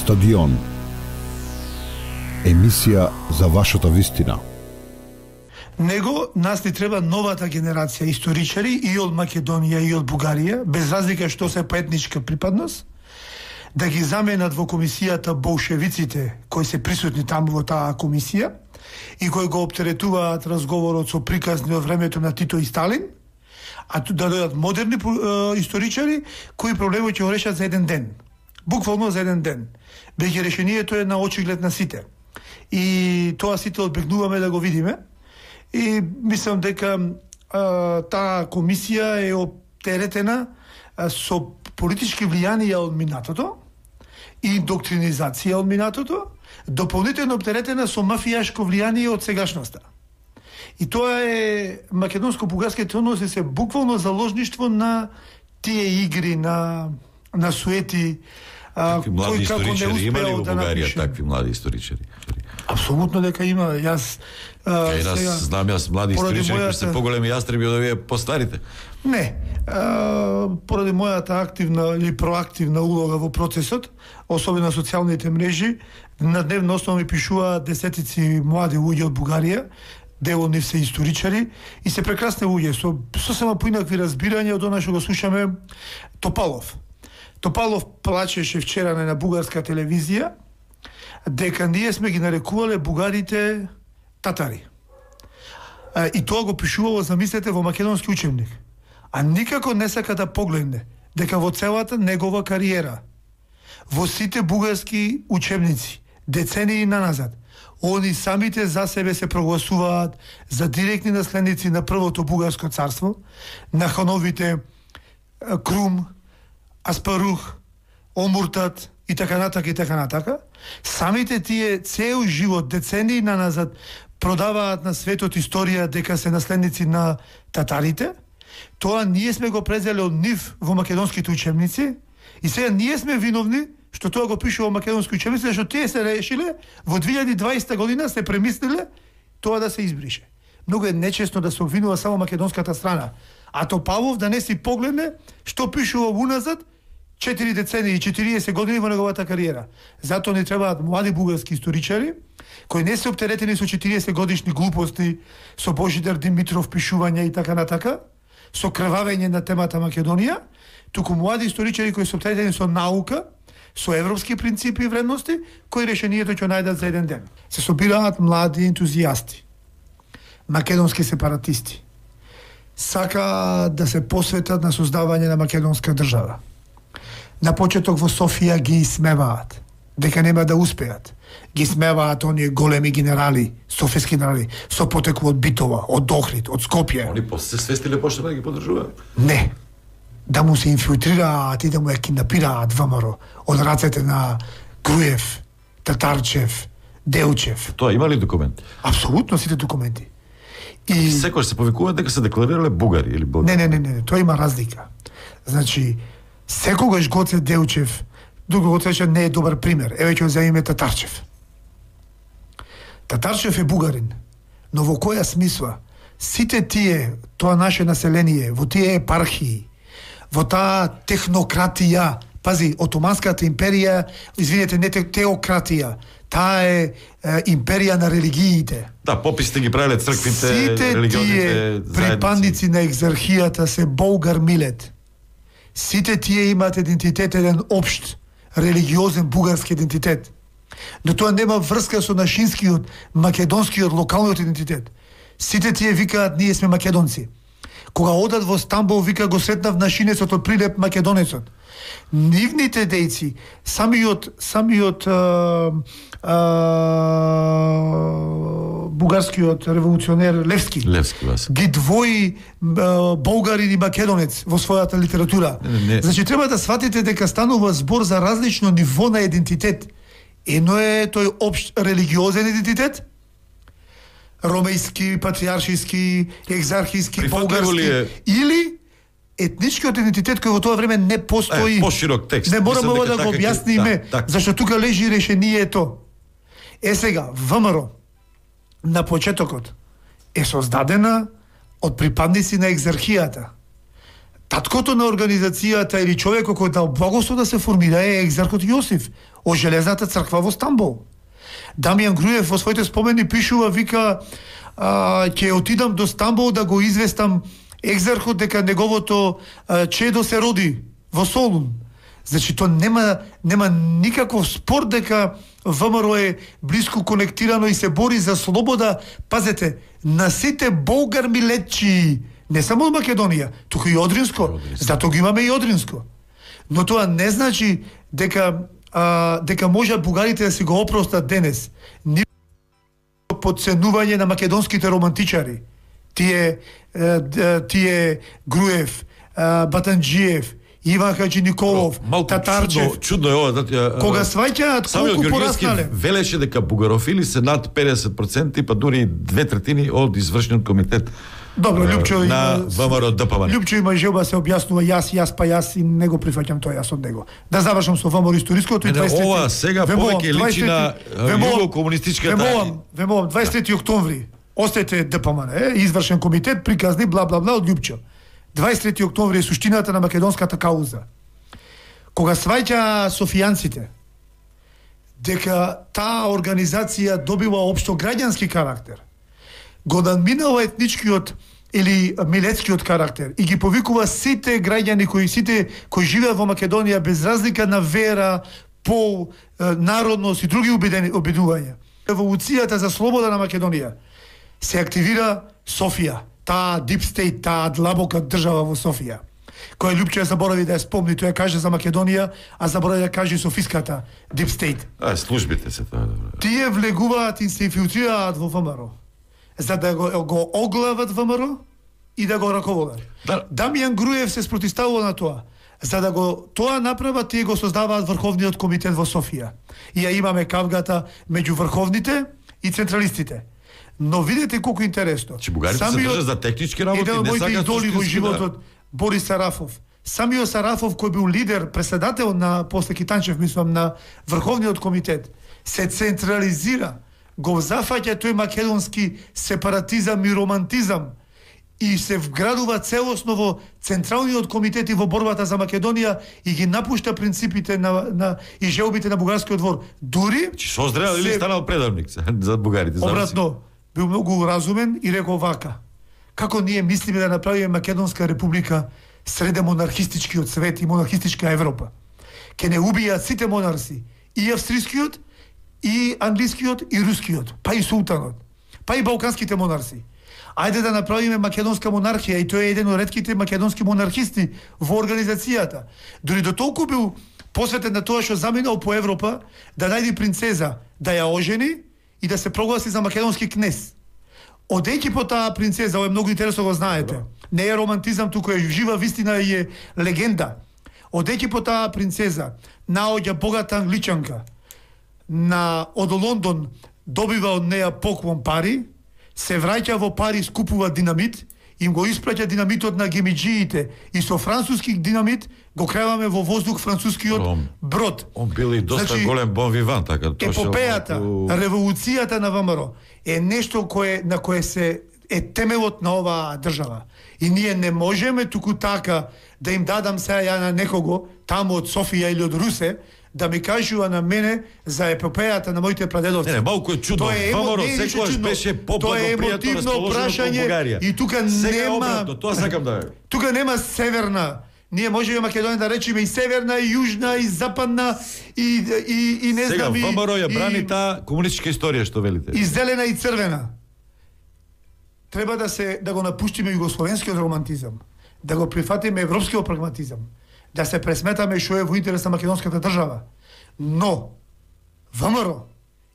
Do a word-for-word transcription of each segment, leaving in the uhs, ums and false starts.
Стадион. Емисија за вашата вистина. Него нас ни треба новата генерација историчари и од Македонија и од Бугарија, без разлика што се по етничка припадност, да ги заменат во комисијата болшевиците кои се присутни таму во таа комисија и кои го оптеретуваат разговорот со приказни од времето на Тито и Сталин, а ту да дојдат модерни е, историчари кои проблемот ќе го решат за еден ден. Буквално за еден ден. Беќе решението е на очиглед на сите. И тоа сите одбегнуваме да го видиме. И мислам дека а, таа комисија е оптеретена а, со политички влијанија од минатото и доктринизација од минатото, дополнително оптеретена со мафијашко влијание од сегашноста. И тоа е македонско-бугарските односи се буквално заложништво на тие игри, на на суети. Такви млади историчари има ли во да Бугарија напише... такви млади историчари? Апсолутно дека има. Јас Кај нас сега, знам јас млади историчари кои се поголеми јастреби од овие постарите. Не. А, поради мојата активна или проактивна улога во процесот, особено на социјалните мрежи, на дневна основа ми пишуваат десетици млади луѓе од Бугарија, дел од нив се историчари и се прекрасни луѓе со сосема поинакви разбирања од она што го слушаме. Топалов. Топалов плачеше вчера на бугарска телевизија дека ние сме ги нарекувале бугарите татари. И тоа го пишувало, замислете, во македонски учебник. А никако не сака да погледне дека во целата негова кариера, во сите бугарски учебници, децении наназад, они самите за себе се прогласуваат за директни наследници на првото бугарско царство, на хановите Крум, Аспарух, Омуртат и така натака и така натака. Самите тие цел живот, децении наназад, продаваат на светот историја дека се наследници на татарите. Тоа ние сме го презеле од нив во македонските учебници и сега ние сме виновни што тоа го пише во македонски учебници, што тие се решиле во две илјади и дваесета година, се премислиле тоа да се избрише. Многу е нечесно да се обвинува само македонската страна, а Топалов да не си погледне што пишува уназад четири децении и четириесет години во неговата кариера. Затоа ни требаат млади бугарски историчари кои не се оптеретени со четириесет годишни глупости, со Божидар Димитров пишувања и така натака, со крвавење на темата Македонија, туку млади историчари кои се оптеретени со наука, со европски принципи и вредности, кои решението ќе најдат за еден ден. Се собираат млади ентузијасти, македонски сепаратисти, сака да се посветат на создавање на македонска држава. На почеток во Софија ги исмеваат дека нема да успеат. Ги смеваат оние големи генерали, софиски генерали, со потекло од Битова, од Охрид, од Скопје. Они после се свестиле почнаа да ги поддржуваат? Не. Да му се инфилтрираат и да му ја кинапираат ВМРО од рацете на Груев, Татарчев, Делчев. Тоа има ли документи? Апсолутно сите документи. И секој се повикуваат дека се декларирале бугари или българи? Не, не, не, не, тоа има разлика. Значи, секогаш Гоце Делчев, друго Гоце не е добар пример. Еве ќе земеме Татарчев. Татарчев е бугарин, но во која смисла? Сите тие, тоа наше население, во тие епархии, во таа технократија, пази, Отоманската империја, извинете, не теократија, таа е, е империја на религиите. Да, пописите ги правеле црквите, религиозните заедници. Сите тие припадници на екзархијата се болгар милет. Сите тие имаат идентитет, еден општ, религиозен бугарски идентитет. Но тоа нема врска со нашинскиот, македонскиот, локалниот идентитет. Сите тие викаат, ние сме македонци. Кога одат во Стамбул, вика, го сретнав нашинецот од Прилеп, македонецот. Нивните дејци, самиот, самиот а, а, бугарскиот револуционер Левски, Левски вас. ги двои а, болгарин и македонец во својата литература. Не, не. Значи, треба да сватите дека станува збор за различно ниво на идентитет. Едно е тој општ религиозен идентитет, ромејски, патриаршиски, екзархиски, болгарски, или етничкиот идентитет кој во тоа време не постои. Е, поширок текст. Не мораме ова да го објасниме, да, зашто тука лежи решението. Е сега, ВМРО на почетокот е создадена од припадници на екзархијата. Таткото на организацијата или човекот кој дал благослов да се формира е екзархот Јосиф од Железната црква во Стамбул. Дамјан Груев во своите спомени пишува, вика, а, ќе отидам до Стамбул да го известам екзархот дека неговото а, чедо се роди во Солун. Значи, то нема, нема никаков спор дека ВМРО е блиско конектирано и се бори за слобода, пазете, на сите болгар милетчи, не само од Македонија, туку и Одринско, затоа го имаме и Одринско. Но тоа не значи дека а, дека можат бугарите да си го опростат денес. Ни подценување на македонските романтичари. Тие, тие Груев, Батанџиев, Иван Хаджи Николов, Малку Татарчев. Чудно, чудно е ова. Да, кога сваќаат колку пораснале. Велеше дека бугарофили се над педесет проценти, па дури две третини од извршниот комитет. Добро, Лјупчо на ВМРО ДПМН. Лјупчо има желба се објаснува јас, јас па јас и не го прифаќам тоа јас од него. Да завршам со ВМРО историското и дваесет трети. Ова сега повеќе личи на југокомунистичката. Вемолам, вемолам дваесет трети октомври. Остете ДПМН, е, извршен комитет, приказни бла бла бла од Лјупчо. дваесет трети октомври е суштината на македонската кауза. Кога сваќа софијанците дека таа организација добива општо граѓански карактер, го надминава етничкиот или милетскиот карактер и ги повикува сите граѓани кои сите кои живеат во Македонија без разлика на вера, пол, народност и други обидувања. Револуцијата за слобода на Македонија се активира Софија, таа deep state, таа длабока држава во Софија, која Лјупчо заборави да ја спомни, тој ја каже за Македонија, а заборави да каже Софиската deep state. А, службите се тоа. Тие влегуваат и се инфилтрираат во ВМРО, за да го, го оглават ВМРО и да го раководат. Да. Дамјан Груев се спротивставува на тоа. За да го тоа направат, тие го создаваат Врховниот комитет во Софија. И ја имаме кавгата меѓу врховните и централистите. Но видете колку интересно. Че бугарите се држат за технички работи, не не сакаат идоли во животот, да. Борис Сарафов. Самиот Сарафов, кој бил лидер, преседател на после Китанчев, мислам, на Врховниот комитет, се централизира, го зафаќа тој македонски сепаратизам и романтизам и се вградува целосно во Централниот комитет и во борбата за Македонија и ги напушта принципите на, на и желбите на бугарскиот двор. Дури Че созрел или станал предавник за бугарите? Обратно, бил многу разумен и рекол вака: како ние мислиме да направиме Македонска република среде монархистичкиот свет и монархистичка Европа. Ке не убијат сите монарси, и австрискиот, и англискиот, и рускиот, па и султанот, па и балканските монарси. Ајде да направиме македонска монархија, и тој е еден од ретките македонски монархисти во организацијата. Дори до толку бил посветен на тоа што заминал по Европа да најде принцеза, да ја ожени и да се прогласи за македонски кнез. Одејќи по таа принцеза, ова е многу интересно, го знаете. Не е романтизам, туку е жива вистина и е легенда. Одејќи по таа принцеза, наоѓа богата англичанка, на од Лондон добива од неја поклон пари, се враќа во Париз, купува динамит, им го испраќа динамитот на гемиџиите и со француски динамит го креваме во воздух францускиот он, брод. Он бил и доста значи, голем бон виван, така. Епопејата, малку... револуцијата на ВМРО е нешто кое на кое се е темелот на оваа држава. И ние не можеме туку така да им дадам сега ја на некого таму од Софија или од Русе да ми кажува на мене за епопејата на моите прадедовци. Не, не, малку е чудно. ВМРО секогаш беше по-благопријатно расположено кон Бугарија. И тука сега нема обратно, тоа сакам да. Тука нема северна. Ние можеме Македонија да речеме и северна, и јужна, и западна, и и и не сега, знам и ВМРО ја брани таа комунистичка историја што велите. И зелена и црвена. Треба да се да го напуштиме југословенскиот романтизам, да го прифатиме европскиот прагматизам, да се пресметаме што е во интерес на македонската држава. Но ВМРО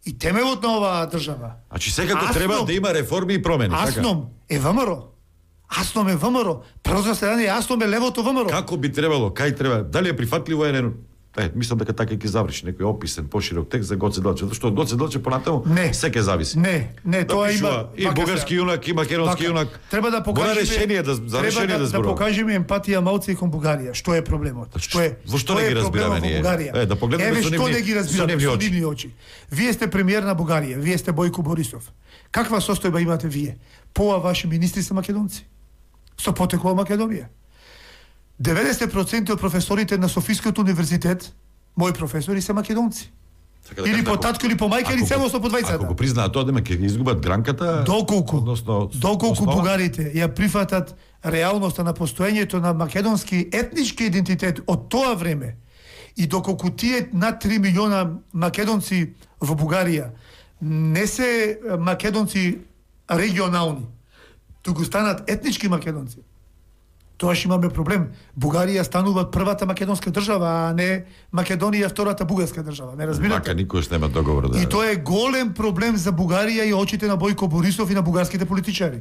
и темелот на оваа држава. Значи секако треба да има реформи и промени, така? Асном е ВМРО. Асном е ВМРО. Прво заседание Асном е левото ВМРО. Како би требало, кај треба? Дали е прифатливо е не? Е, мислам дека така ќе заврши некој описен поширок текст за Гоце Делчев, зашто Гоце Делчев понатаму се ќе зависи. Не, не, да тоа пишува, има и бугарски јунак, и македонски јунак. Треба да покажеме решение да за решение да, да зборува. Да покажеме емпатија малце и кон Бугарија. Што е проблемот? Што е? Во што не ги разбираме ние? Е, да погледнеме со нивни, не ги разбираме со нивни очи. Вие сте премиер на Бугарија, вие сте Бојко Борисов. Каква состојба имате вие? Пола ваши министри се македонци. Со потекло од Македонија. деветдесет проценти од професорите на Софискиот универзитет, мои професори се македонци. Така да или кажа, по татко или по мајка или целосно по двајцата. Ако го признаат тоа, дека ќе изгубат гранката, доколку односно доколку основа... бугарите ја прифатат реалноста на постоењето на македонски етнички идентитет од тоа време и доколку тие над три милиона македонци во Бугарија не се македонци регионални, туку станат етнички македонци, тоаш имаме проблем. Бугарија станува првата македонска држава, а не Македонија втората бугарска држава. Не разбирате? Мака никош нема договор да. И тоа е голем проблем за Бугарија и очите на Бојко Борисов и на бугарските политичари.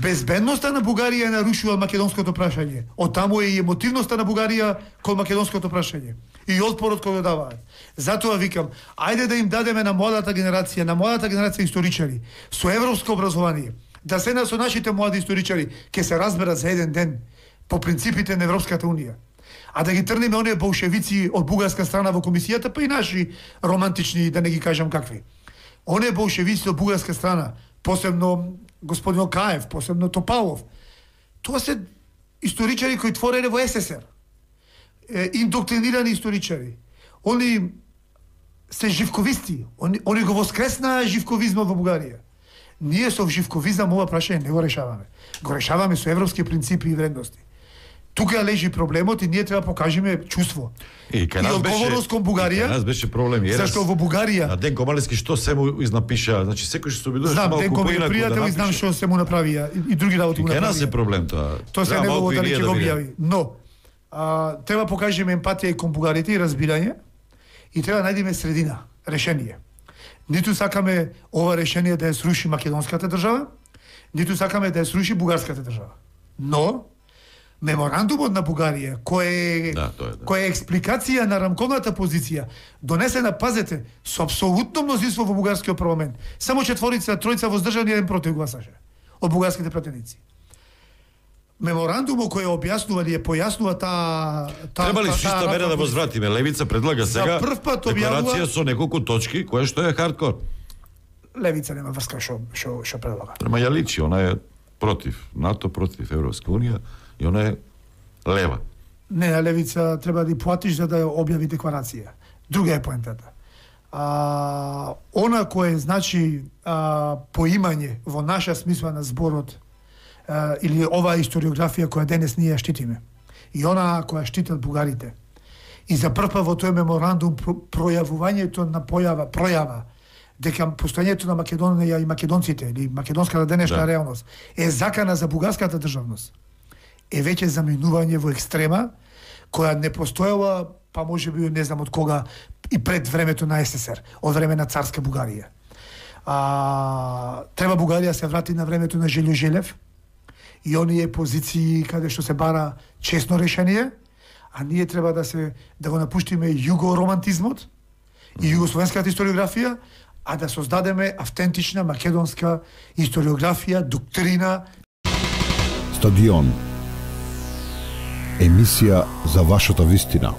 Безбедноста на Бугарија нарушува македонското прашање. Оттаму е и емотивноста на Бугарија кон македонското прашање. И отпорот кој го даваат. Затоа викам, ајде да им дадеме на младата генерација, на младата генерација историчари со европско образование, да се на со нашите млади историчари ќе се разберат за еден ден по принципите на Европската унија. А да ги трнеме оние болшевици од бугарска страна во комисијата, па и наши романтични, да не ги кажам какви. Оние болшевици од бугарска страна, посебно господин Окаев, посебно Топалов, тоа се историчари кои твореле во СССР. Е, индоктринирани историчари. Они се живковисти. Они, они го воскреснаа живковизмот во Бугарија. Ние со живковизам ова прашање не го решаваме. Го решаваме со европски принципи и вредности. Тука лежи проблемот и ние треба да покажеме чувство. И, и одговорност кон Бугарија. Нас беше проблем. Ерас, зашто во Бугарија... А Денко Малевски што се му изнапиша, значи секој што се обидуваше малку поинаку да напише. Знам, Денко ми е пријател и знам што се му направија. И, и други работи му направија. И нас е проблем тоа. Тоа се негово дали ќе го објави. Но, а, треба покажеме емпатија и кон бугарите и разбирање и треба да најдеме средина, решение. Ниту сакаме ова решение да ја сруши македонската држава, ниту сакаме да ја сруши бугарската држава. Но, меморандумот на Бугарија, кој е, да, е, да. кој е експликација на рамковната позиција, донесена, пазете, со апсолутно мнозинство во бугарскиот парламент. Само четворица, тројца воздржани, еден против гласаше од бугарските пратеници. Меморандумот кој објаснува или ја појаснува таа та, треба ли шиста мера да возвратиме? Левица предлага сега декларација со неколку точки, која што е хардкор. Левица нема врска што што што предлага. Према ја личи, она е против НАТО, против Европска унија и она е лева. Не, на левица треба да и платиш за да ја објави декларација. Друга е поентата. А, она кое значи а, поимање во наша смисла на зборот Uh, или оваа историографија која денес ние ја штитиме и она која штитат бугарите. И за прв пат во тој меморандум про, пројавувањето на појава, пројава дека постоењето на Македонија и македонците или македонската денешна да. реалност е закана за бугарската државност. Е веќе заминување во екстрема која не постоела, па можеби не знам од кога и пред времето на СССР, од време на царска Бугарија. А, треба Бугарија се врати на времето на Желјо Желев и оние позиции каде што се бара честно решение, а ние треба да се да го напуштиме југоромантизмот и југословенската историографија, а да создадеме автентична македонска историографија, доктрина. Стадион. Емисија за вашата вистина.